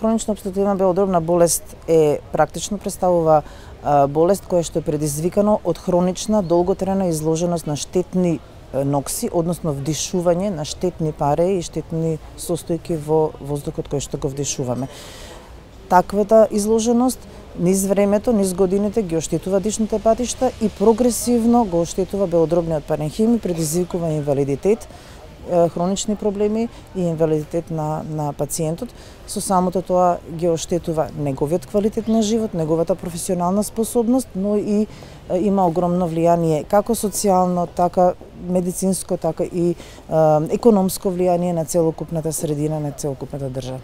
Хронична опструктивна белодробна болест практично представува болест која што е предизвикано од хронична долготрајна изложеност на штетни нокси, односно вдишување на штетни пари и штетни состојки во воздухот кој што го вдишуваме. Таквата изложеност низ времето, низ годините ги оштетува дишните патишта и прогресивно го оштетува белодробниот паренхим и предизвикува инвалидитет, хронични проблеми и инвалидитет на пациентот. Со самото тоа ги оштетува неговиот квалитет на живот, неговата професионална способност, но и има огромно влијание како социјално, така медицинско, така и економско влијание на целокупната средина, на целокупната држава.